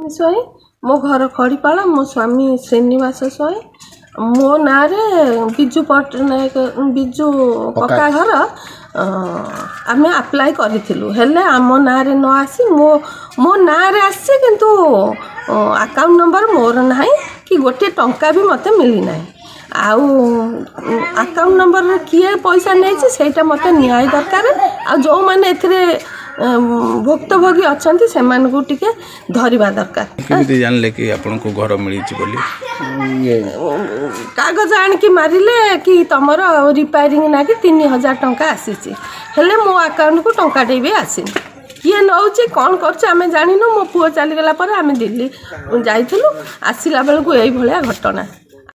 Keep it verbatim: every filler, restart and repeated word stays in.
ସ୍ୱାଇଁ, ମୋ ଘର ଖଡ଼ିପାଳ, ମୋ ସ୍ୱାମୀ ଶ୍ରୀନିବାସ ସ୍ୱାଇଁ। ମୋ ନାଁରେ ବିଜୁ ପଟ୍ଟନାୟକ ବିଜୁ ପକ୍କା ଘର ଆମେ ଆପ୍ଲାଏ କରିଥିଲୁ, ହେଲେ ଆମ ନାଁରେ ନ ଆସି ମୋ ମୋ ନାଁରେ ଆସିଛି, କିନ୍ତୁ ଆକାଉଣ୍ଟ ନମ୍ବର ମୋର ନାହିଁ କି ଗୋଟିଏ ଟଙ୍କା ବି ମୋତେ ମିଳିନାହିଁ। ଆଉ ଆକାଉଣ୍ଟ ନମ୍ବରରେ କିଏ ପଇସା ନେଇଛି ସେଇଟା ମୋତେ ନ୍ୟାୟ ଦରକାର। ଆଉ ଯେଉଁମାନେ ଏଥିରେ ଭୁକ୍ତଭୋଗୀ ଅଛନ୍ତି ସେମାନଙ୍କୁ ଟିକେ ଧରିବା ଦରକାର। କେମିତି ଜାଣିଲେ କି ଆପଣଙ୍କୁ ଘର ମିଳିଛି ବୋଲି? କାଗଜ ଆଣିକି ମାରିଲେ କି ତମର ରିପେୟାରିଂ ନାଗି ତିନି ହଜାର ଟଙ୍କା ଆସିଛି, ହେଲେ ମୋ ଆକାଉଣ୍ଟକୁ ଟଙ୍କାଟେ ବି ଆସିନି। କିଏ ନେଉଛି କ'ଣ କରୁଛି ଆମେ ଜାଣିନୁ। ମୋ ପୁଅ ଚାଲିଗଲା ପରେ ଆମେ ଦିଲ୍ଲୀ ଯାଇଥିଲୁ, ଆସିଲା ବେଳକୁ ଏଇଭଳିଆ ଘଟଣା।